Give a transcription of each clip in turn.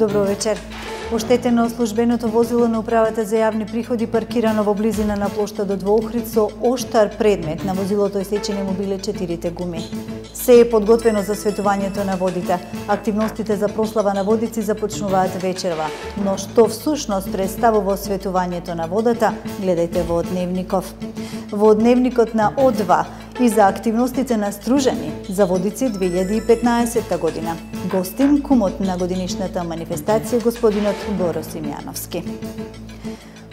Добро вечер. Оштетено службеното возило на управата за јавни приходи паркирано во близина на плоштадот во Охрид со оштар предмет. На возилото исечени му биле 4 гуми. Се е подготвено за светувањето на водите. Активностите за прослава на водици започнуваат вечерва. Но што всушност представува светувањето на водата, гледајте во Дневников. Во Дневникот на О2 и за активностите на Стружани за водици 2015 година. Гостин кумот на годинишната манифестација господинот Боро Симјановски.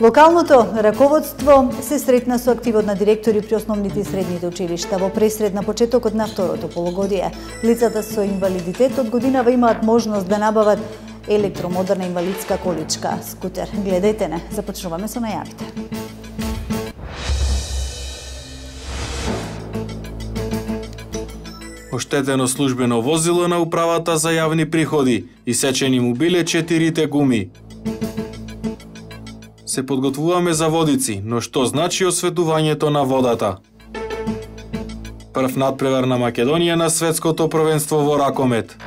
Локалното раководство се сретна со активот на директори при основните и средните училишта во пресред на почетокот на второто полугодие. Лицата со инвалидитет од годинава имаат можност да набават електромодерна инвалидска количка, скутер. Гледајте не, започнуваме со најавите. Оштетено службено возило на управата за јавни приходи, исечени му биле 4 гуми. Се подготвуваме за водици, но што значи осветувањето на водата? Прв надпревар на Македонија на светското првенство во ракомет.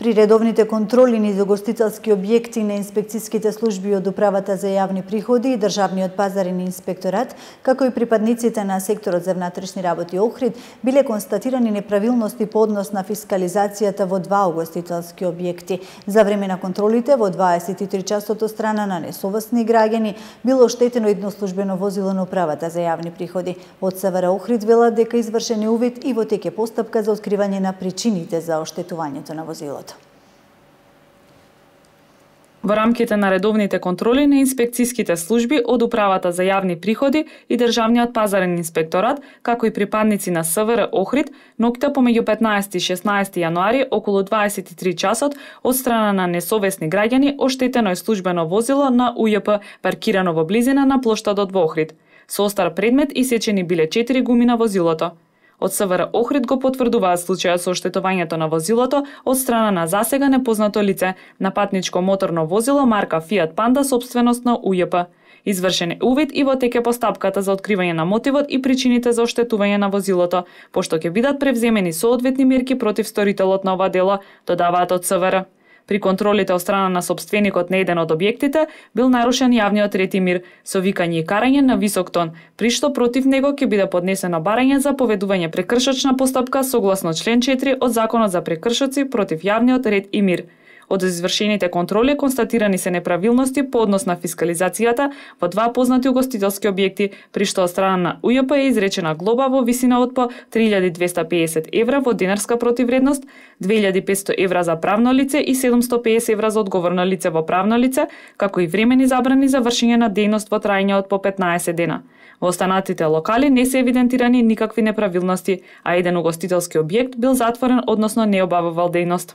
При редовните контроли низ угостителски објекти на инспекцијските служби од управата за јавни приходи и Државниот пазарен инспекторат, како и припадниците на секторот за внатрешни работи Охрид, биле констатирани неправилности по однос на фискализацијата во 2 угостителски објекти. За време на контролите во 23 часот од страна на несовесни граѓани било оштетено едно службено возило на управата за јавни приходи. Од СВР Охрид велат дека извршен е увид и во тек е постапка за откривање на причините за оштетувањето на возилото. Во рамките на редовните контроли на инспекцијските служби од управата за јавни приходи и Државниот пазарен инспекторат, како и припадници на СВР Охрид, ноќта помеѓу 15 и 16 јануари околу 23 часот од страна на несовесни граѓани оштетено е службено возило на УЈП паркирано во близина на плоштадот во Охрид. Со остар предмет исечени биле 4 гуми на возилото. Од СВР Охрид го потврдуваат случајот со оштетувањето на возилото од страна на засега непознато лице на патничко моторно возило марка Fiat Panda собственост на УЈП. Извршен е увид и во тек е постапката за откривање на мотивот и причините за оштетување на возилото, пошто ќе бидат превземени соодветни мерки против сторителот на ова дело, додаваат од СВР. При контролите од страна на собственикот на еден од објектите бил нарушен јавниот ред и мир со викање и карање на висок тон, при што против него ќе биде поднесено барање за поведување прекршочна постапка согласно член 4 од Законот за прекршоци против јавниот ред и мир. Од извршените контроли констатирани се неправилности по однос на фискализацијата во 2 познати угостителски објекти, при што од страна на УЈП е изречена глоба во висина од по 3250 евра во динарска противвредност, 2500 евра за правно лице и 750 евра за одговорно лице во правно лице, како и времени забрани за вршење на дејност во трајање од по 15 дена. Во останатите локали не се евидентирани никакви неправилности, а еден угостителски објект бил затворен, односно не обавувал дејност.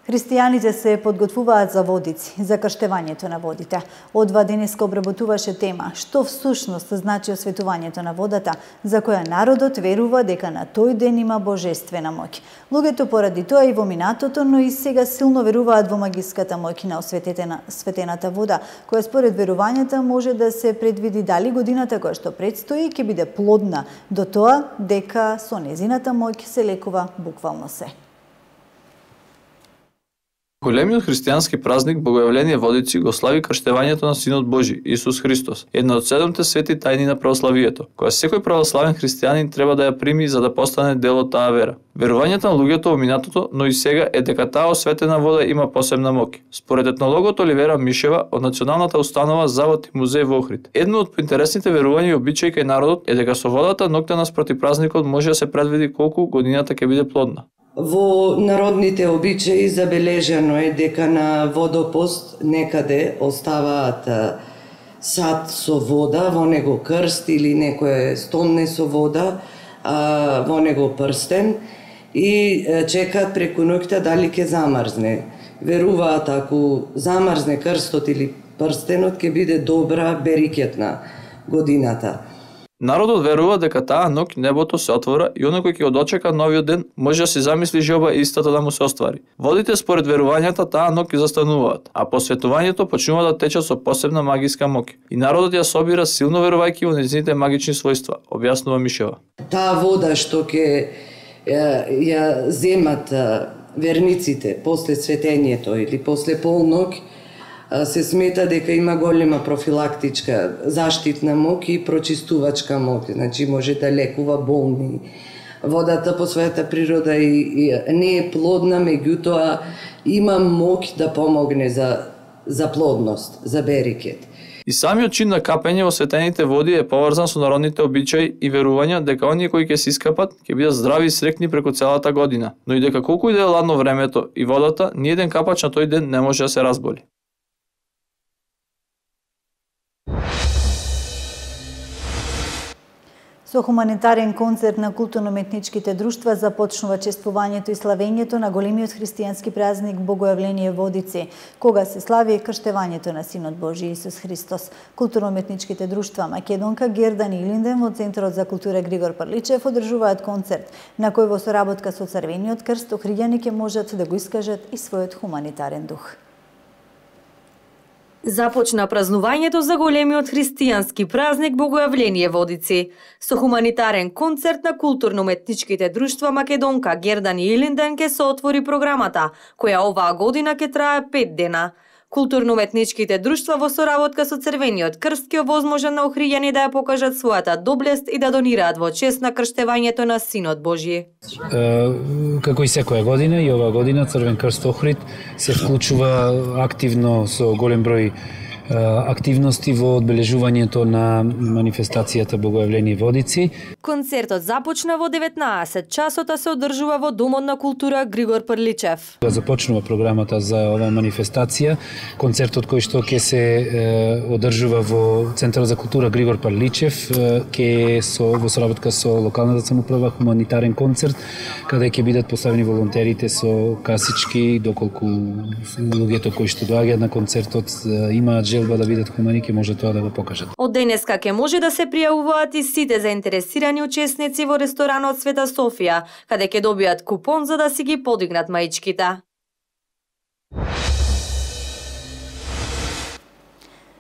Христијаните се подготвуваат за водици, за крштевањето на водите. О2 денеска обработуваше тема што всушност значи осветувањето на водата, за која народот верува дека на тој ден има божествена моќ. Луѓето поради тоа и во минатото, но и сега силно веруваат во магиската моќ на осветената вода, која според верувањата може да се предвиди дали годината која што предстои ќе биде плодна, до тоа дека со незината моќ се лекува буквално се. Големиот христијански празник Богојавление водици го слави крштевањето на Синот Божи, Исус Христос, една од 7 свети тајни на православието, која секој православен христијанин треба да ја прими за да постане дел од таа вера. Верувањето на луѓето во минатото, но и сега е дека таа осветена вода има посебна моќ. Според етнологот Оливера Мишева од Националната установа Завод и музеј во Охрид, едно од поинтересните верувања и обичаи кај народот е дека со водата ноќта наспроти празникот може да се предвиди колку годината ќе биде плодна. Во народните обичаи забележано е дека на водопост некаде оставаат сад со вода, во него крст или некое стонне со вода, во него прстен и чекаат преку ноќта дали ќе замрзне. Веруваат ако замрзне крстот или прстенот ќе биде добра берикет на годината. Народот верува дека таа ноќ небото се отвора и оној кој ќе го дочека новиот ден може да си замисли желба истата да му се оствари. Водите според верувањата таа ноќ ќе застануваат, а посветувањето почнува да тече со посебна магиска моќ. И народот ја собира силно верувајќи во нејзините магични својства, објаснува Мишева. Таа вода што ќе ја земат верниците после светењето или после полноќ, се смета дека има голема профилактичка заштитна моќ и прочистувачка моќ, значи може да лекува болни. Водата по својата природа и не е плодна, меѓутоа има моќ да помогне за плодност, за берекет. И самиот чин на капење во светените води е поврзан со народните обичаи и верувања дека оние кои ќе се искапат ќе бидат здрави и среќни преку целата година, но и дека колку и да е ладно времето и водата, ниеден капач на тој ден не може да се разболи. Со хуманитарен концерт на културно-уметничките друштва започнува чествувањето и славењето на големиот христијански празник Богојавление Водици, кога се слави крштевањето на Синот Божи Исус Христос. Културно-уметничките друштва Македонка, Гердан и Илинден во Центарот за култура Григор Парличев одржуваат концерт, на кој во соработка со Црвениот крст охриѓани ќе можат да го искажат и својот хуманитарен дух. Започна празнувањето за големиот христијански празник Богојавление Водици со хуманитарен концерт на културно-уметничките друштва Македонка, Гердан и Илинден ке се отвори програмата, која оваа година ке трае 5 дена. Културно-уметничките друштва во соработка со Црвениот крст ке овозможат на охриѓани да ја покажат својата доблест и да донираат во чест на крштевањето на Синот Божи. Како и секоја година, и оваа година Црвен крст Охрид се вклучува активно со голем број активности во одбележувањето на манифестацијата Богојавление Водици. Концертот започна во 19 часот, а се одржува во Домот на култура Григор Прличев. Започнува програмата за оваа манифестација. Концертот кој што ќе се одржува во Центарот за култура Григор Прличев ќе во соработка со локалната самоуправа хуманитарен концерт, каде ќе бидат поставени волонтерите со касички, доколку луѓето кои што доаѓаат на концертот имаат желба да бидат хумани, ќе може тоа да го покажат. Од денеска ќе може да се пријавуваат и сите заинтересирани учесници во ресторанот Света Софија, каде ќе добијат купон за да си ги подигнат маичките.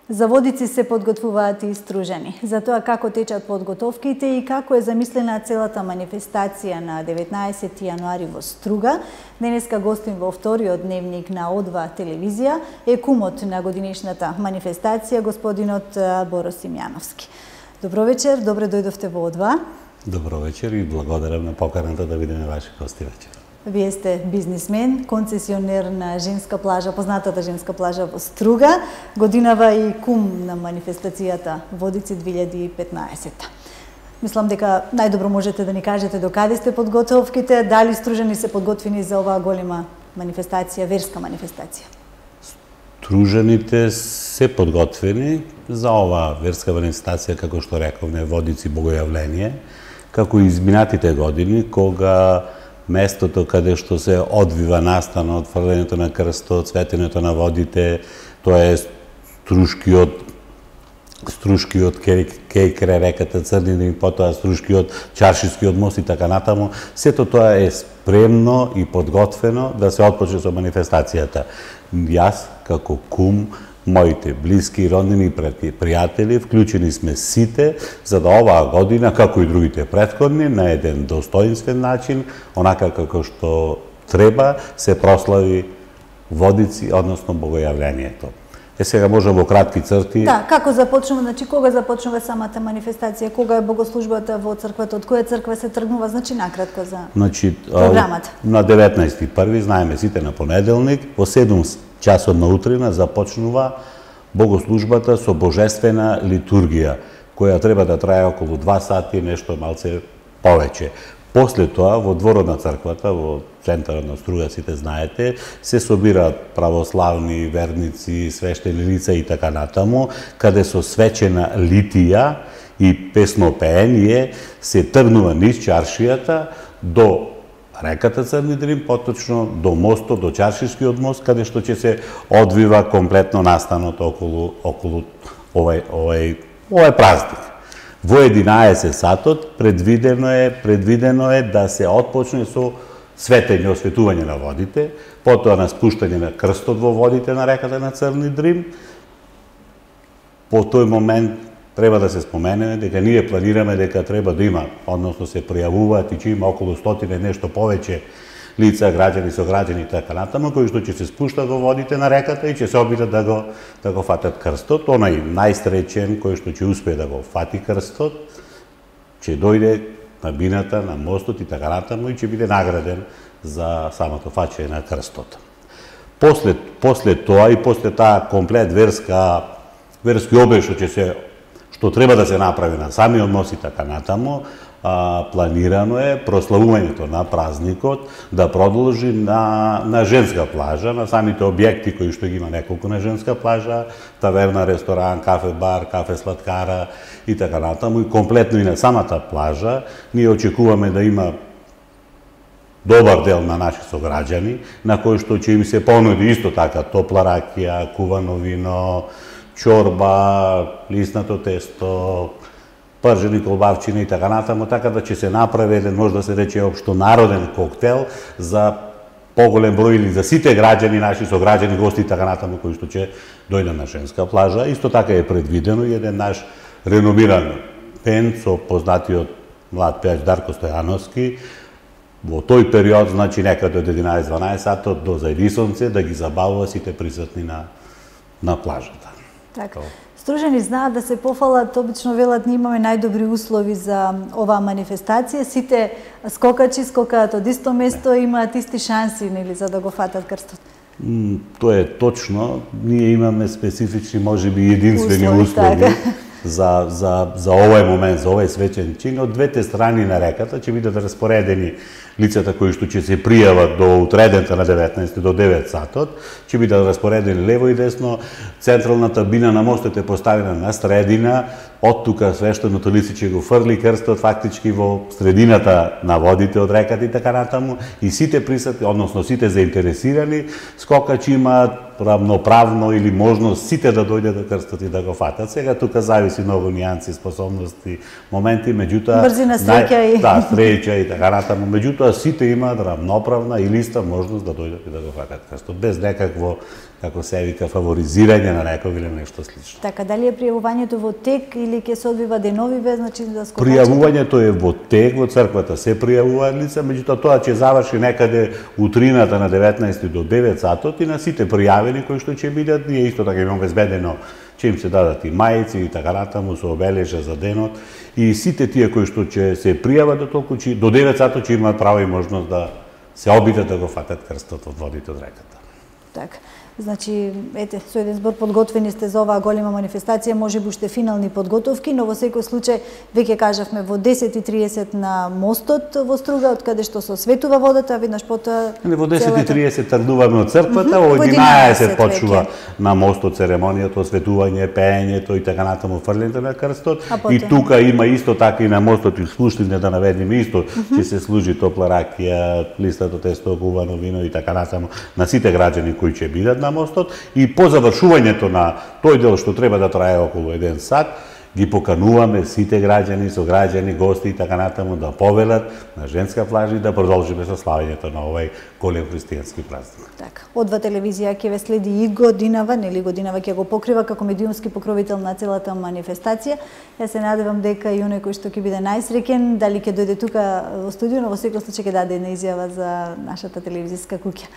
За Водици се подготвуваат и стружени. За тоа како течат подготовките и како е замислена целата манифестација на 19 јануари во Струга, денеска гостин во вториот дневник на О2 телевизија е кумот на годинишната манифестација, господинот Боро Симјановски. Добро вечер, добре дојдовте во О2. Добро вечер и благодарам на поканата да бидеме ваши гости вечер. Вие сте бизнисмен, концесионер на женска плажа, познатата женска плажа во Струга, годинава и кум на манифестацијата Водици 2015. Мислам дека најдобро можете да ни кажете до каде сте подготовките, дали стружени се подготвени за оваа голема манифестација, верска манифестација? Стружените се подготвени за оваа верска манифестација, како што рековме, Водици Богојавление, како и изминатите години, кога местото каде што се одвива настанот, фрлењето на крстот, светењето на водите, тоа е Струшкиот кеј крај реката Црнина, потоа Струшкиот чаршискиот мост и така натаму. Сето тоа е спремно и подготвено да се отпочне со манифестацијата. Јас, како кум, моите блиски, роднини и пријатели, вклучени сме сите, за да оваа година, како и другите претходни, на еден достоинствен начин, онака како што треба, се прослави Водици, односно Богојавлението. Сега можам во кратки црти... Да, како започнува, значи кога започнува самата манифестација, кога е богослужбата во црквата, од која црква се тргнува, значи накратко за програмата. На 19.1, знаеме сите, на понеделник, во 7 часот на утрина започнува богослужбата со божествена литургија, која треба да трае околу 2 сати, нешто малце повеќе. После тоа, во дворот на црквата, во центарот на Струга, сите знаете, се собираат православни верници, свештени лица и така натаму, каде со свечена литија и песнопење се тргнува низ чаршијата до реката Црни Дрин, поточно до мостот, до Чаршискиот мост, каде што ќе се одвива комплетно настанот околу овај празник. Во 11 сатот предвидено е да се отпочне со светење, осветување на водите, потоа на спуштање на крстот во водите на реката на Црни Дрим. По тој момент треба да се спомене дека ние планираме дека треба да има, односно се пријавуваат и че има околу 100 нешто повеќе лица, граѓани, сограѓани и така натаму, кои што ќе се спуштат во водите на реката и ќе се обидат да го фатат крстот. Онај најстречен кој што ќе успее да го фати крстот, ќе дојде на бината, на мостот и така натаму и ќе биде награден за самото фаќање на крстот. После тоа и после таа комплет верски обред што треба да се направи на самиот мост и така натаму, планирано е прославувањето на празникот да продолжи на женска плажа, на самите објекти кои што ги има неколку на женска плажа, таверна, ресторан, кафе бар, кафе сладкара и така натаму, и комплетно и на самата плажа. Ние очекуваме да има добар дел на наши сограѓани, на кои што ќе им се понуди исто така топла ракија, кувано вино, чорба, лиснато тесто, пржени колбавчини и така натаму, така да ќе се направи еден, може да се рече, општонароден коктел за поголем број или за сите граѓани, наши сограѓани, гости и така натаму, кои што ќе дојдат на женска плажа. Исто така е предвидено и еден наш реномиран пеен со познатиот млад пеач Дарко Стојановски, во тој период, значи некаде од 11-12 сатот до зајдисонце, да ги забавува сите присутни на плажата. Така. Стружани знаат да се пофалат, обично велат, ние имаме најдобри услови за оваа манифестација, сите скокачи скокаат од исто место, имаат исти шанси, нели, за да го фатат крстот. Тоа е точно, ние имаме специфични, можеби единствени услови така. за овој момент, за овој свечен чин. Од двете страни на реката ќе бидат распоредени лицата кои што ќе се пријават до утредента на 19 до 9 сатот, ќе бидат распоредени лево и десно, централната бина на мостот е поставена на средина, од тука свештеното лице ќе го фрли крстот фактички во средината на водите од реката и така натаму, и сите присутни, односно сите заинтересирани скокачи имаат равноправно или можност сите да дојдат до крстот и да го фатат. Сега тука зависи многу нијанси, способности, моменти, меѓутоа брзина, среќа и среќа и така натаму, меѓутоа сите имаат равноправна и листа можност да дојдат и да го фатат крстот без некакво, како се вика, фаворизирање на некој или нешто слично. Така, дали е пријавувањето во тек или ќе се одвива деновиве, значи за скокачите? Пријавувањето е во тек, во црквата се пријавуваат лица, меѓутоа тоа ќе заврши некаде утрината на 19 до 9 сатот и на сите пријавени кои што ќе бидат, ние исто така имаме обезбедено ќе им се дадат и мајци и така натаму со обележа за денот, и сите тие кои што ќе се пријават до толку до 9 сатот ќе имаат право и можност да се обидат да го фатат крстот од водите од реката. Така. Значи, ете, со еден збор подготвени сте за оваа голема манифестација, може би уште финални подготовки, но во секој случај, веќе кажавме, во 10:30 на мостот во Струга, од каде што се осветува водата, веднаш потоа... Во 10:30 тргнуваме од црквата, во 11 почнува на мостот церемонијата, осветување, пеењето и така натаму, фрлењето на крстот. И тука има исто така и на мостот и спуштање, да наведеме исто, ќе се служи топла ракија, листато тесто, кувано вино и така натаму на сите граѓани кои ќе бидат на мостот, и по завршувањето на тој дел што треба да трае околу 1 сат, ги покануваме сите граѓани, сограѓани, гости и така натаму да повелат на женска плажа и да продолжиме со славењето на овој голем христијански празник. Така. Одва телевизија ќе ве следи и годинава, нели годинава ќе го покрива како медиумски покровител на целата манифестација. Јас се надевам дека и оној кој што ќе биде најсреќен, дали ќе дојде тука во студио, но во секој случај ќе даде една изјава за нашата телевизиска куќа.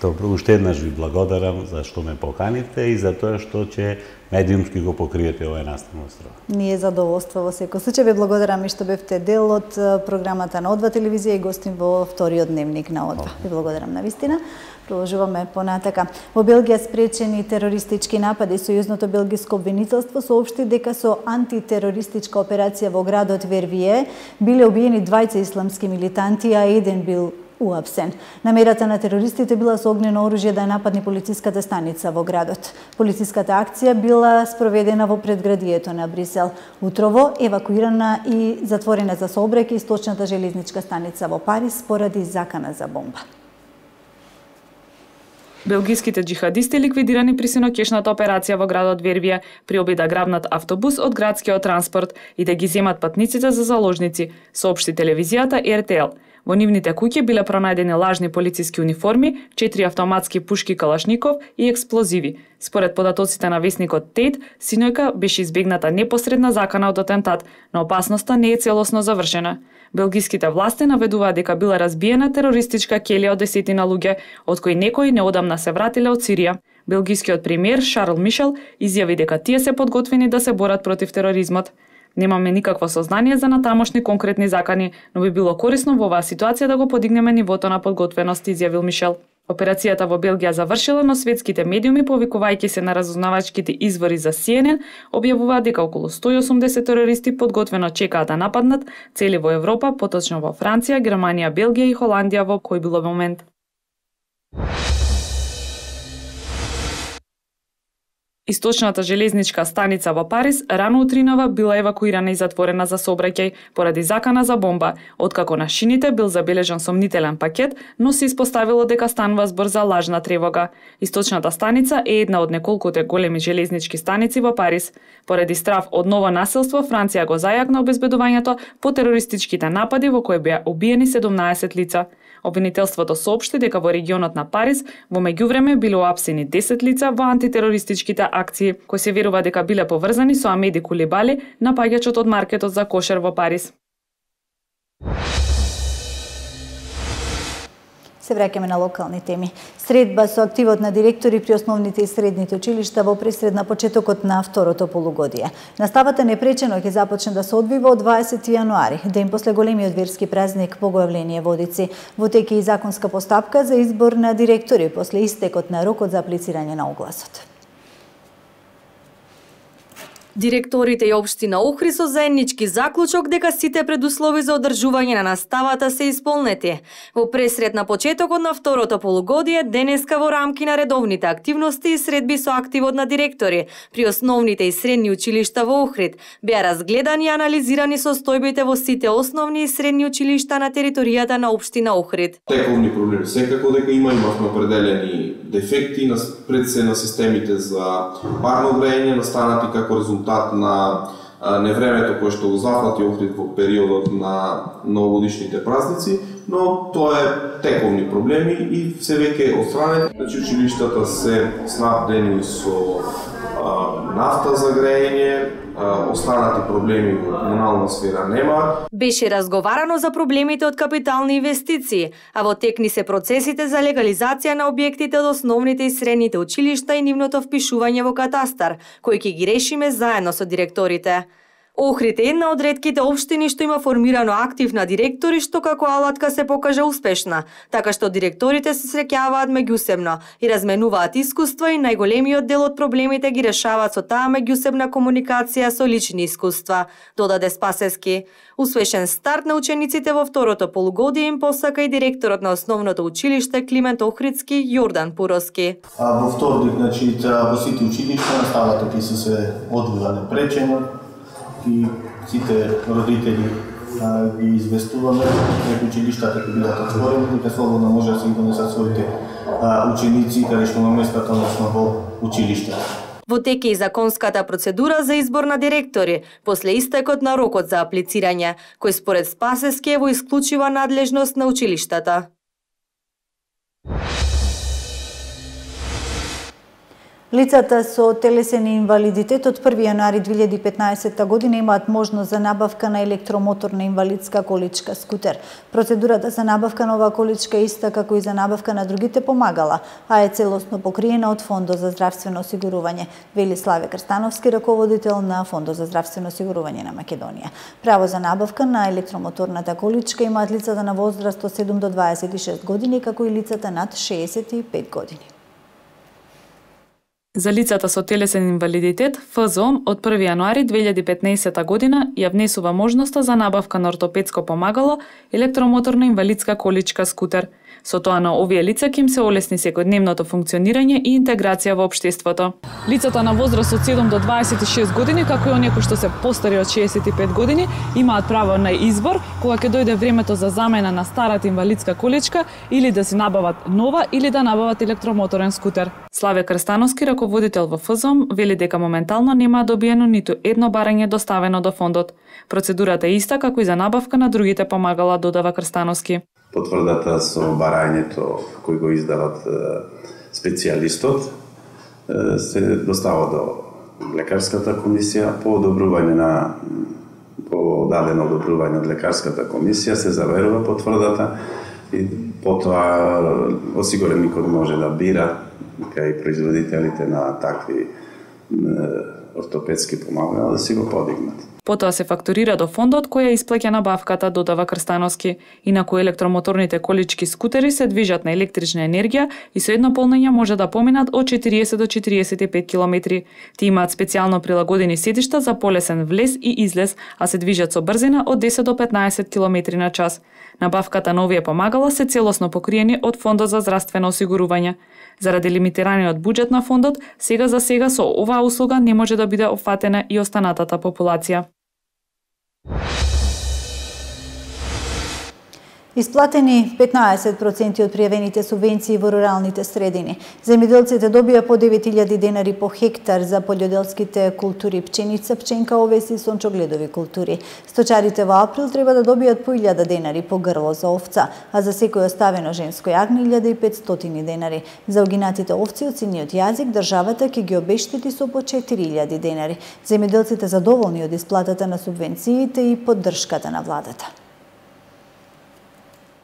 Добро, уште еднаш ви благодарам за што ме поканите и за тоа што ќе медиумски го покриете овој настан остров. Ние задоволство во секој случај. Ве благодарам и што бевте дел од програмата на Одва телевизија и гостин во вториот дневник на Одва. Ви благодарам на вистина. Продолжуваме понатака. Во Белгија спречени терористички напади. Сојузното белгиско обвинителство соопшти дека со антитерористичка операција во градот Вервие биле убиени 20 исламски милитанти, а еден бил уапсен. Намерата на терористите била со огнено оружје да нападне полициската станица во градот. Полициската акција била спроведена во предградието на Брисел. Утрово евакуирана и затворена за сообраќај источната железничка станица во Париз поради закана за бомба. Белгиските џихадисти ликвидирани при синокешната операција во градот Вербија при обид да грабнат автобус од градскиот транспорт и да ги земат патниците за заложници, соопшти телевизијата РТЛ. Во нивните куќи биле пронајдени лажни полициски униформи, 4 автоматски пушки Калашников и експлозиви. Според податоците на весникот Тейт, синојка беше избегната непосредна закана од атентат, но опасноста не е целосно завршена. Белгиските власти наведуваат дека била разбиена терористичка келија од 10 луѓе, од кои некои неодамна се вратиле од Сирија. Белгискиот премиер Шарл Мишел изјави дека тие се подготвени да се борат против тероризмот. Немаме никакво сознание за натамошни конкретни закани, но би било корисно во оваа ситуација да го подигнеме нивото на подготвеност, изјавил Мишел. Операцијата во Белгија завршила, но светските медиуми, повикувајќи се на разузнавачките извори за CNN, објавуваат дека околу 180 терористи подготвено чекаат да нападнат цели во Европа, поточно во Франција, Германија, Белгија и Холандија во кој било момент. Источната железничка станица во Париз рано утринава била евакуирана и затворена за сообраќај поради закана за бомба, откако на шините бил забележан сомнителен пакет, но се испоставило дека станува збор за лажна тревога. Источната станица е една од неколкуте големи железнички станици во Париз. Поради страв од ново насилство, Франција го зајакна обезбедувањето по терористичките напади во кои беа убиени 17 лица. Обвинителството соопшти дека во регионот на Париз во меѓувреме биле уапсени 10 лица во антитерористичките акции, кои се верува дека биле поврзани со Амеди Кулибали, напаѓачот од маркетот за кошер во Париз. Се враќаме на локални теми. Средба со активот на директори при основните и средните училишта во пресред на почетокот на второто полугодие. Наставата непречено ќе започне да се одвива од 20 јануари, ден после големиот верски празник Богојавление Водици. Во теке и законска постапка за избор на директори после истекот на рокот за аплицирање на огласот. Директорите и општина Охрид со заеднички заклучок дека сите предуслови за одржување на наставата се исполнети. Во пресред на почетокот на второто полугодие, денеска во рамки на редовните активности и средби со активот на директори при основните и средни училишта во Охрид беа разгледани и анализирани состојбите во сите основни и средни училишта на територијата на општина Охрид. Тековни проблеми секако дека имавме определени дефекти пред се на системите за парно грејење, настанати како резултат на невремето кое што го зафати Охрид во периодот на новогодишните празници, но тоа е тековни проблеми и се веќе отстранети. Значи училиштата се снабдени со нафта за грејење, останати проблеми во комунална сфера нема. Беше разговарано за проблемите од капитални инвестиции, а во текни се процесите за легализација на објектите од основните и средните училишта и нивното впишување во катастар, кои ќе ги решиме заедно со директорите. Охрид е една од ретките општини што има формирано актив на директори, што како алатка се покажа успешна, така што директорите се среќаваат меѓусебно и разменуваат искуства и најголемиот дел од проблемите ги решаваат со таа меѓусебна комуникација со лични искуства, додаде Спасески. Успешен старт на учениците во второто полугодие им посака и директорот на основното училиште Климент Охридски Јордан Пуроски. Во вторник, значи, во сите училишта наставата ќе се одвива непречено и сите родители ги известуваме дека училиштата ќе бидат отворени, дека слободно може да се донесат своите ученици каде што на местата, односно во училиштата. Во теке и законската процедура за избор на директори после истекот на рокот за аплицирање, кој според Спасески е во исклучива надлежност на училиштата. Лицата со телесен инвалидитет од 1 јануари 2015 година имаат можност за набавка на електромоторна инвалидска количка скутер. Процедурата за набавка на оваа количка е иста како и за набавка на другите помагала, а е целосно покриена од Фондот за здравствено осигурување, вели Славе Крстановски, раководител на Фондот за здравствено осигурување на Македонија. Право за набавка на електромоторната количка имаат лицата на возраст од 7 до 26 години, како и лицата над 65 години. За лицата со телесен инвалидитет, ФЗОМ од 1 јануари 2015 година ја внесува можноста за набавка на ортопедско помагало, електромоторна инвалидска количка скутер. Со тоа на овие лица ќе им се олесни секојдневното функционирање и интеграција во општеството. Лицата на возраст од 7 до 26 години, како и оние кои што се постари од 65 години, имаат право на избор кога ќе дојде времето за замена на старата инвалидска количка или да си набават нова или да набават електромоторен скутер. Славе Крстановски, раководител во ФЗОМ, вели дека моментално нема добиено ниту едно барање доставено до фондот. Процедурата е иста како и за набавка на другите помагала, додава Крстановски. Потврдата со барањето кој го издават специјалистот се достава до лекарската комисија по дадено одобрување од лекарската комисија се заверува потврдата и потоа осигуреникот може да бира кај производителите на такви ортопедски помагала да си го подигнат. Потоа се фактурира до фондот кој ја исплаќа набавката, додава Крстановски. Инаку електромоторните колички скутери се движат на електрична енергија и со едно полнење може да поминат од 40 до 45 километри. Ти имаат специјално прилагодени седишта за полесен влез и излез, а се движат со брзина од 10 до 15 километри на час. Набавката на овие помагала се целосно покриени од Фондот за здравствено осигурување. Заради лимитираниот буџет на фондот, сега за сега со оваа услуга не може да биде опфатена и останатата популација. Исплатени 15% од пријавените субвенции во руралните средини. Земјоделците добија по 9000 денари по хектар за пољоделските култури пченица, пченка, овес и сончогледови култури. Сточарите во април треба да добијат по 1000 денари по грло за овца, а за секој оставено женско јагне 1500 денари. За угинатите овци од синиот јазик државата ќе ги обештети со по 4000 денари. Земјоделците задоволни од исплатата на субвенциите и поддршката на владата.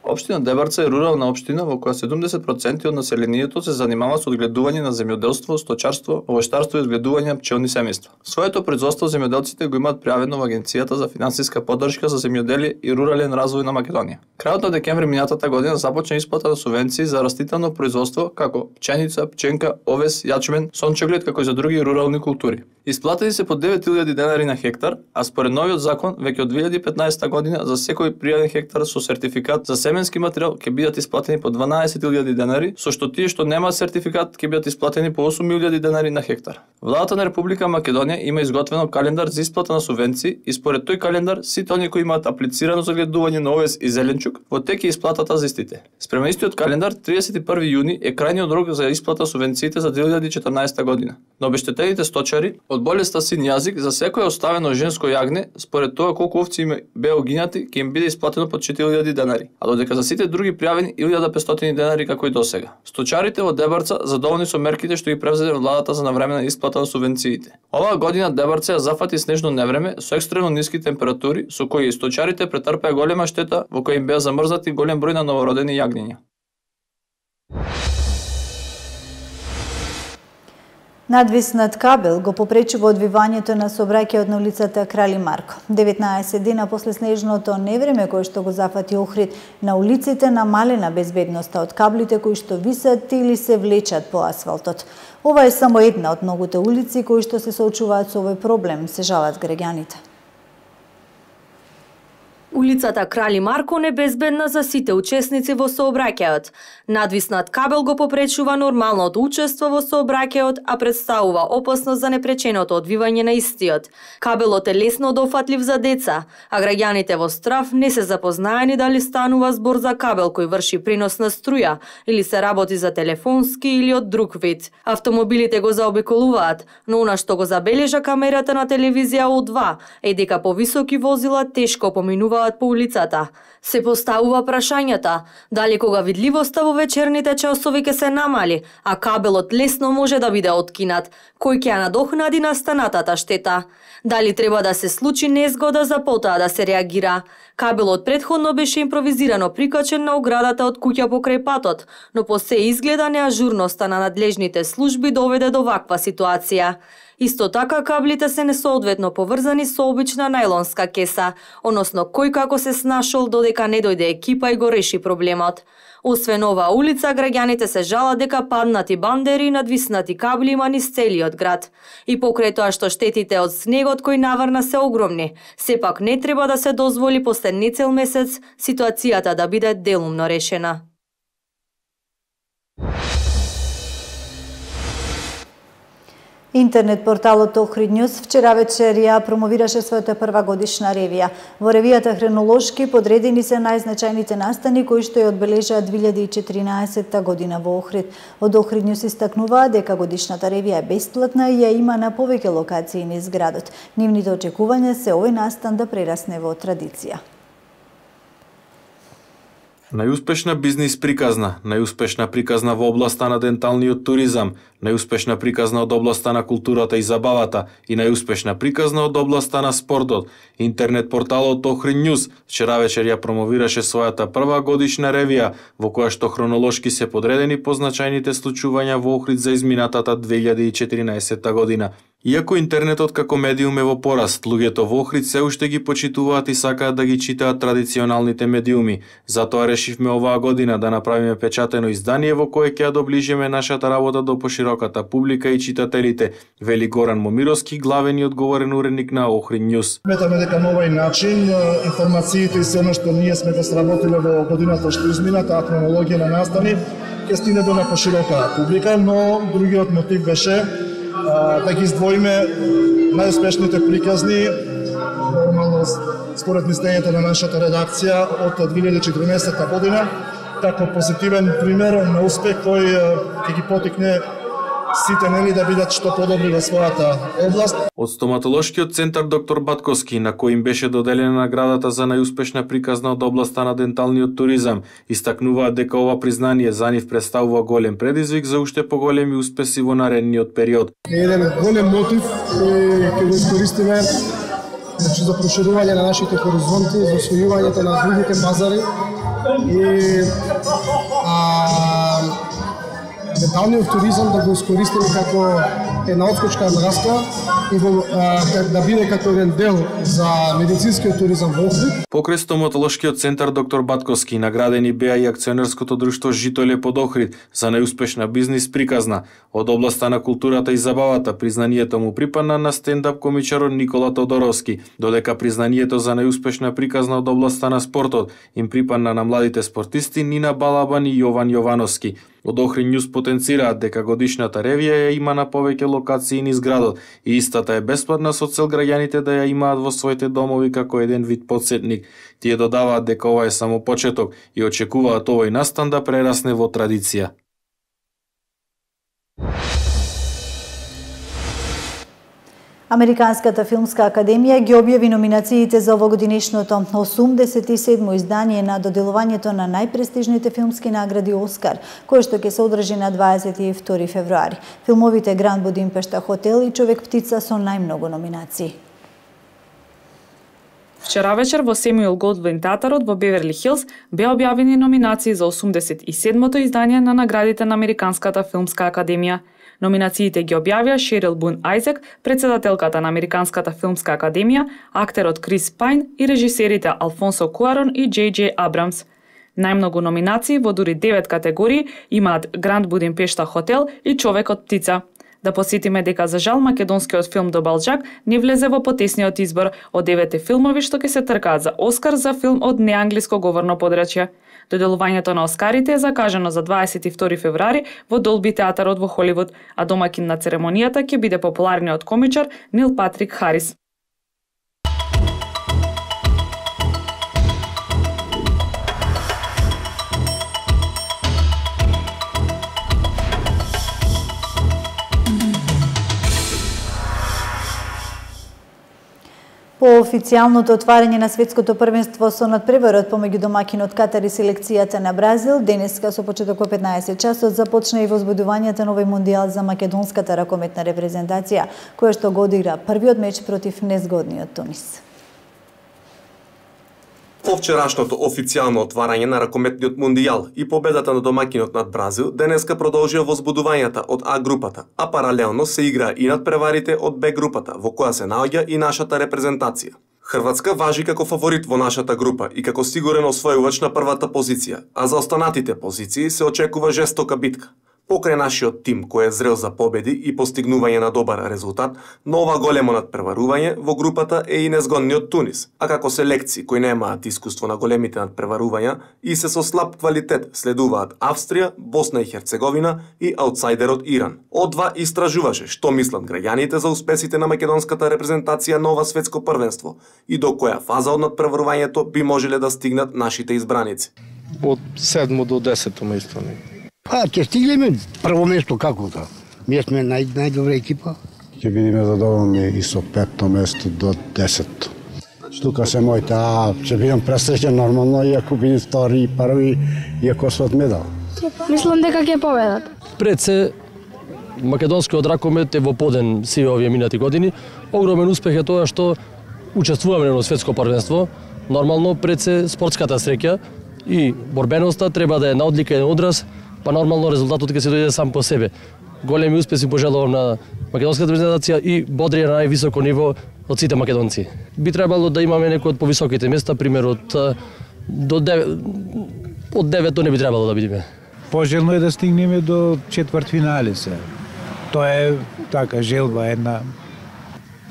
Општина Дебарца е рурална општина во која 70% од населението се занимава со одгледување на земјоделство, сточарство, овоштарство и одгледување на пчелни семејства. Своето производство земјоделците го имаат пријавено во Агенцијата за финансиска поддршка за земјоделие и рурален развој на Македонија. Крајот на декември минатата година започна исплата на субвенции за растително производство како пченица, пченка, овес, јачмен, сончоглед како и за други рурални култури. Исплатени се по 9000 денари на хектар, а според новиот закон веќе од 2015 година за секој пријавен хектар со сертификат за семенски материјал ќе бидат исплатени по 12000 денари, со што тие што немаат сертификат ќе бидат исплатени по 8000 денари на хектар. Владата на Република Македонија има изготвено календар за исплата на субвенции и според тој календар сите оние кои имаат аплицирано за гледување на овес и зеленчук во тек е исплатата за истите. Спрема истиот календар 31 јуни е крајниот рок за исплата субвенциите за 2014 година. На обештетените сточари од болеста син јазик за секое оставено женско јагне според тоа колку овци им беа угинати ќе им биде исплатено по 4000 денари, а додека за сите други пријавени 1500 денари како и досега. Сточарите во Дебарца задоволни со мерките што ги превзеде владата за навремена исплата на субвенциите. Оваа година Дебарца ја зафати снежно невреме со екстремно ниски температури со кои и сточарите претрпеа голема штета во која им беа замрзнати голем број на новородени јагниња. Надвиснат кабел го попречува одвивањето на сообраќајот на улицата Крали Марко. 19 дена после снежното невреме кое што го зафати Охрид, на улиците намалена безбедноста од каблите кои што висат или се влечат по асфалтот. Ова е само една од многуте улици кои што се соочуваат со овој проблем, се жалат граѓаните. Улицата Крали Марко не безбедна за сите учесници во сообраќајот. Надвиснат кабел го попречува нормалното учество во сообраќајот, а представува опасност за непреченото одвивање на истиот. Кабелот е лесно дофатлив за деца, а граѓаните во страв не се запознаени дали станува збор за кабел кој врши пренос на струја или се работи за телефонски или од друг вид. Автомобилите го заобиколуваат, но она што го забележа камерата на телевизија О2 е дека повисоки возила тешко поминуваат по улицата. Се поставува прашањата дали кога видливоста во вечерните часови ќе се намали, а кабелот лесно може да биде откинат, кој ќе ја надокнади настанатата штета. Дали треба да се случи незгода за потоа да се реагира. Кабелот претходно беше импровизирано прикачен на оградата од куќа покрај патот, но по се изгледа неажурноста на надлежните служби доведе до ваква ситуација. Исто така каблите се несоодветно поврзани со обична најлонска кеса, односно кој како се снашол додека не дојде екипа и го реши проблемот. Освен оваа улица, граѓаните се жалат дека паднати бандери и надвиснати кабли има низ целиот град. И покрај тоа што штетите од снегот кој наврна се огромни, сепак не треба да се дозволи после нецел месец ситуацијата да биде делумно решена. Интернет порталот Охрид Ньюс вчера вечер ја промовираше својата прва годишна ревија. Во ревијата хронолошки подредени се најзначајните настани кои што ја одбележаа 2014 година во Охрид. Од Охрид Ньюс истакнуваа дека годишната ревија е бесплатна и ја има на повеќе локации низ градот. Нивните очекувања се овој настан да прерасне во традиција. Најуспешна бизнис приказна, најуспешна приказна во областа на денталниот туризам, најуспешна приказна од областа на културата и забавата и најуспешна приказна од областа на спортот. Интернет порталот Охрид Ньюс вчера вечер ја промовираше својата прва годишна ревија, во која што хронолошки се подредени позначајните случувања во Охрид за изминатата 2014 година. Иако интернетот како медиум е во пораст, луѓето во Охрид се уште ги почитуваат и сакаат да ги читаат традиционалните медиуми. Затоа решивме оваа година да направиме печатено издание во кое ќе ја доближиме нашата работа до пошироката публика и читателите, вели Горан Момировски, главен и одговорен уредник на Охрид Ньюс. Сметаме дека на овој начин информациите и се она што ние сме го сработиле во годината што измина, таа хронологија на настани ќе стигне до на поширока публика, но другиот мотив беше да ги издвоиме најуспешните приказни, нормално според мислењето на нашата редакција од 2014 година, како позитивен пример на успех кој ќе ги потикне сите да бидат што подобри во својата област. Од стоматолошкиот центар доктор Батковски, на кој им беше доделена наградата за најуспешна приказна од областа на денталниот туризам, истакнуваат дека ова признание за нив представува голем предизвик за уште поголеми успеси во наредниот период. Еден голем мотив кој ќе го искористиме за проширување на нашите хоризонти, за освојувањето на другите пазари и денталниот туризам да го искористиме како една отскочка враска и да биде како еден дел за медицинскиот туризам во Охрид. Покрај стоматолошкиот центар доктор Батковски наградени беа и акционерското друштво Житоле под Охрид за најуспешна бизнис приказна. Од областа на културата и забавата признанието му припадна на стендап комичарот Никола Тодоровски, додека признанието за најуспешна приказна од областа на спортот им припадна на младите спортисти Нина Балабан и Јован Јовановски. Од Охрид Ньюс потенцираат дека годишната ревија ја има на повеќе локации низ градот и истата е бесплатна со цел граѓаните да ја имаат во своите домови како еден вид потсетник. Тие додаваат дека ова е само почеток и очекуваат овој настан да прерасне во традиција. Американската филмска академија ги објави номинациите за овогодинешното 87-мо издание на доделувањето на најпрестижните филмски награди Оскар, кое што ќе се одржи на 22 февруари. Филмовите Гранд Будимпешта хотел и Човек птица со најмногу номинации. Вчера вечер во Семюел Голдвин театарот во Беверли Хилс беа објавени номинации за 87-мото издание на наградите на Американската филмска академија. Номинациите ги објавија Шерил Бун Ајзек, председателката на Американската филмска академија, актерот Крис Пайн и режисерите Алфонсо Куарон и J.J. Абрамс. Најмногу номинации во дури 9 категории имаат Гранд Будимпешта хотел и Човекот птица. Да посетиме дека за жал македонскиот филм До Балџак не влезе во потесниот избор од 9 филмови што ќе се тркаат за Оскар за филм од неанглиско говорно подрачје. Доделувањето на Оскарите е закажано за 22 февруари во Долби театарот во Холивуд, а домакин на церемонијата ќе биде популарниот комичар Нил Патрик Харис. По официјалното отварање на светското првенство со надпреварот помеѓу домакинот Катар и селекцијата на Бразил, денеска со почеток во 15 часот започна и возбудувањето на овој мондијал за македонската ракометна репрезентација, која што го одигра првиот меч против незгодниот Тунис. По вчерашното официјално отварање на ракометниот мондијал и победата на домакинот над Бразил, денеска продолжија возбудувањата од А групата, а паралелно се игра и надпреварите од Б групата, во која се наоѓа и нашата репрезентација. Хрватска важи како фаворит во нашата група и како сигурен освојувач на првата позиција, а за останатите позиции се очекува жестока битка. Покрај нашиот тим кој е зрел за победи и постигнување на добар резултат, но ова големо надпреварување во групата е и незгодниот Тунис, а како селекции кои немаат искуство на големите надпреварувања и се со слаб квалитет следуваат Австрија, Босна и Херцеговина и аутсайдерот Иран. О2 истражуваше што мислат граѓаните за успесите на македонската репрезентација на ова светско првенство и до која фаза од надпреварувањето би можеле да стигнат нашите избраници. Од 7 до 10 место. Ќе стигнеме прво место како да. Ние сме најдобра екипа. Ќе бидеме задоволни и со 5-то место до 10-то. Тука се моите, ќе бидам пресреќен нормално, иако бидам втори и први, иако свет медал. Мислам дека ќе победат. Пред се, македонскиот ракомет е во поден сиве овие минати години. Огромен успех е тоа што учествуваме на светско првенство. Нормално пред се спортската среќа и борбеноста треба да е на одлика и на одраз, па нормално резултатот ќе се дојде сам по себе. Големи успеси пожелувам на македонската репрезентација и бодрија на највисоко ниво од сите македонци. Би требало да имаме некој од повисоките места, пример од 9 не би требало да бидеме. Пожелно е да стигнеме до четвртфинале се. Тоа е така желба една.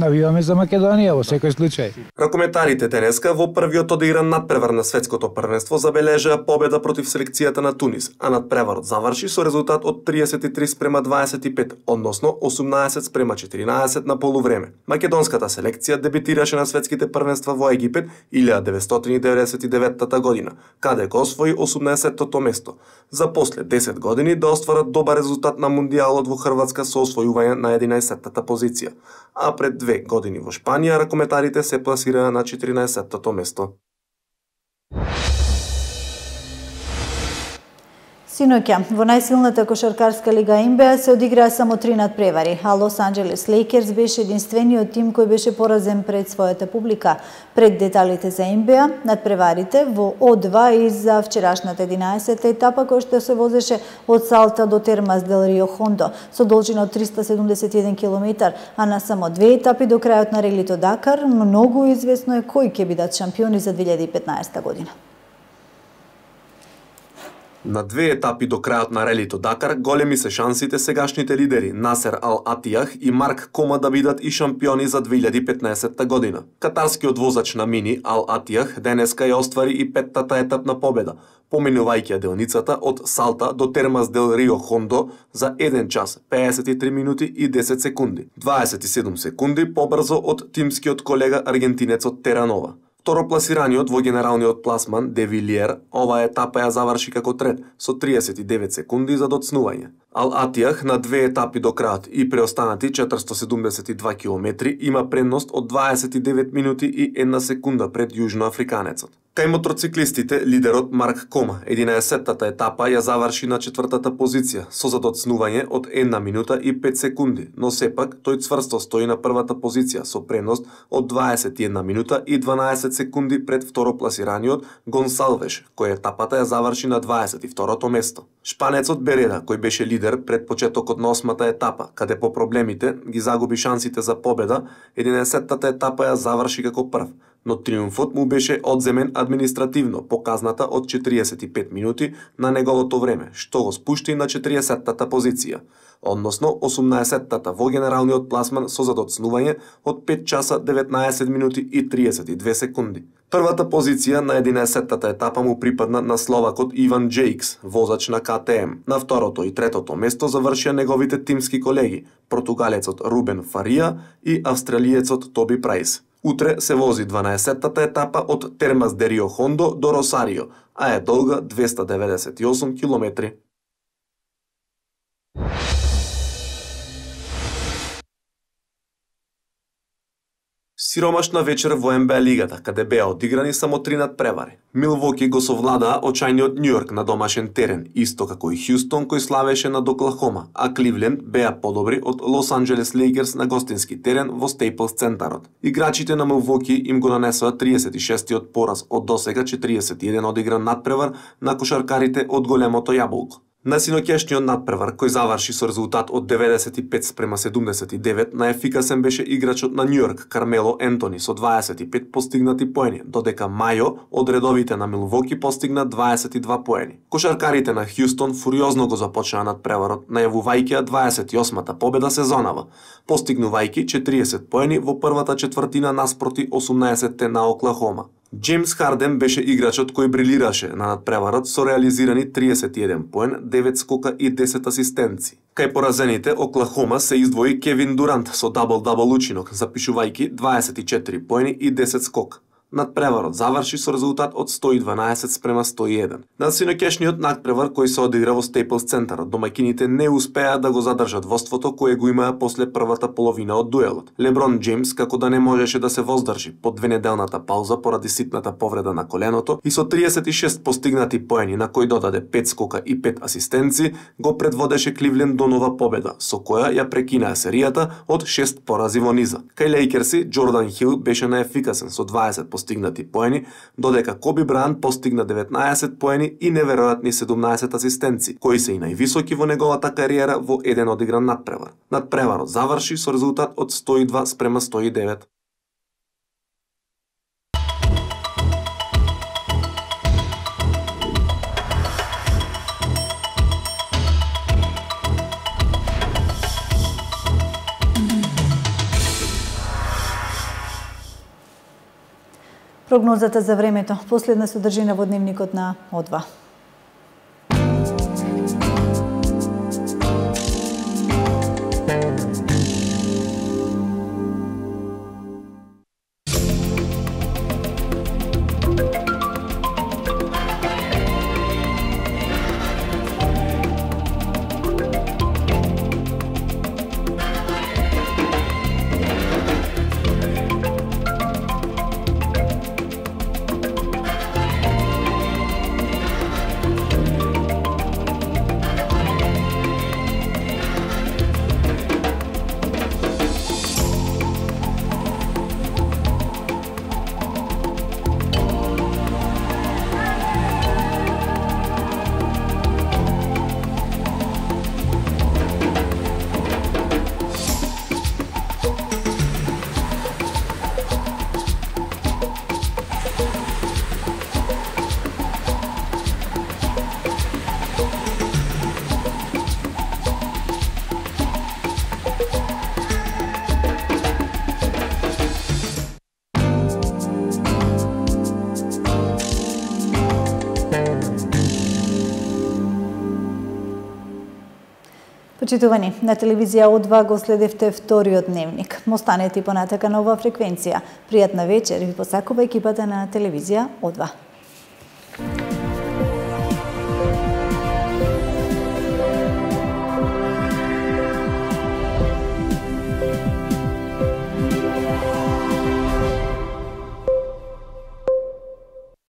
Навиваме за Македонија во секој случај. Ракометарите денеска во првиот одигран надпревар на светското првенство забележаа победа против селекцијата на Тунис, а надпреварот заврши со резултат од 33:25, односно 18:14 на полувреме. Македонската селекција дебитираше на светските првенства во Египет 1999 година, каде го освои 18-тото место, за после 10 години да остварат добар резултат на мундијалот во Хрватска со освојување на 11-тата позиција, а пред 2 години во Шпанија ракометарите се пласираа на 14-тото место. Синоќа, во најсилната кошаркарска лига НБА се одиграа само 3 надпревари, а Лос Анџелес Лейкерс беше единствениот тим кој беше поразен пред својата публика. Пред деталите за НБА, надпреварите во О2 и за вчерашната 11-та етапа која што се возеше од Салта до Термас дел Рио Хондо со должина од 371 км, а на само 2 етапи до крајот на релито Дакар, многу известно е кои ќе бидат шампиони за 2015 година. На 2 етапи до крајот на релито Дакар големи се шансите сегашните лидери Насер Ал Атијах и Марк Кома да бидат и шампиони за 2015 година. Катарскиот возач на мини Ал Атијах денеска ја оствари и 5-тата етапна победа, поминувајќи делницата од Салта до Термас дел Рио Хондо за 1 час, 53 минути и 10 секунди. 27 секунди побрзо од тимскиот колега аргентинецот Теранова. Второпласираниот во генералниот пласман Де Вилиер оваа етапа ја заврши како трет со 39 секунди за доцнување. Ал Атијах на 2 етапи до крајот и преостанати 472 километри има предност од 29 минути и 1 секунда пред јужноафриканецот. Кај мотоциклистите, лидерот Марк Кома 11-тата етапа ја заврши на 4-та позиција со задоцнување од 1 минута и 5 секунди, но сепак тој цврсто стои на првата позиција со предност од 21 минута и 12 секунди пред второпласираниот Гонсалвеш, кој етапата ја заврши на 22-то место. Шпанецот Береда, кој беше лидер пред почетокот на 8-та етапа, каде по проблемите ги загуби шансите за победа, 11-тата етапа ја заврши како прв, но триумфот му беше одземен административно по казната од 45 минути на неговото време, што го спушти на 40-тата позиција, односно 18-тата во генералниот пласман со задоцнување од 5 часа 19 минути и 32 секунди. Првата позиција на 11-тата етапа му припадна на словакот Иван Джейкс, возач на КТМ. На второто и третото место завршија неговите тимски колеги, португалецот Рубен Фарија и австралиецот Тоби Прајс. Утре се вози 12-тата етапа од Термас де Рио Хондо до Росарио, а е долга 298 километри. Сиромашна вечер во НБА лигата, каде беа одиграни само 3 надпревари. Милвоки го совладаа очајниот Њујорк на домашен терен, исто како и Хјустон кој славеше над Оклахома, а Кливленд беа подобри од Лос Анџелес Лейкерс на гостински терен во Стейплс центарот. Играчите на Милвоки им го нанесоа 36-тиот пораз од досега 41 одигран надпревар на кошаркарите од големото јаболко. На синоќешниот надпревар, кој заврши со резултат од 95:79, најефикасен беше играчот на Њујорк Кармело Ентони со 25 постигнати поени, додека Мајо од редовите на Милвоки постигна 22 поени. Кошаркарите на Хјустон фуриозно го започнаа надпреварот, најавувајќи 28-та победа сезонава, постигнувајќи 40 поени во првата четвртина наспроти 18-те на Оклахома. Джеймс Харден беше играчот кој брилираше на надпреварот со реализирани 31 поен, 9 скока и 10 асистенци. Кај поразените Оклахома се издвои Кевин Дурант со дабл-дабл учинок, запишувајќи 24 поени и 10 скока. Надпреварот заврши со резултат од 112:101. На синоќешниот надпревар кој се одигра во Стейплс центарот, домаќините не успеа да го задржат воството кое го имаа после првата половина од дуелот. Леброн Джеймс, како да не можеше да се воздржи под двенеделната пауза поради ситната повреда на коленото и со 36 постигнати поени на кој додаде 5 скока и 5 асистенци, го предводеше Кливленд до нова победа, со која ја прекинаа серијата од 6 порази во низа. Кај Лејкерси, Джордан Хил беше најефикасен со 20 постигнати поени, додека Коби Брајант постигна 19 поени и неверојатни 17 асистенци, кои се и највисоки во неговата кариера во еден одигран надпревар. Надпреварот заврши со резултат од 102:109. Прогнозата за времето, последна содржина во дневникот на О2. Почитувани, на телевизија О2 го следевте вториот дневник. Останете и понатака на оваа фреквенција. Пријатна вечер ви посакува екипата на телевизија О2.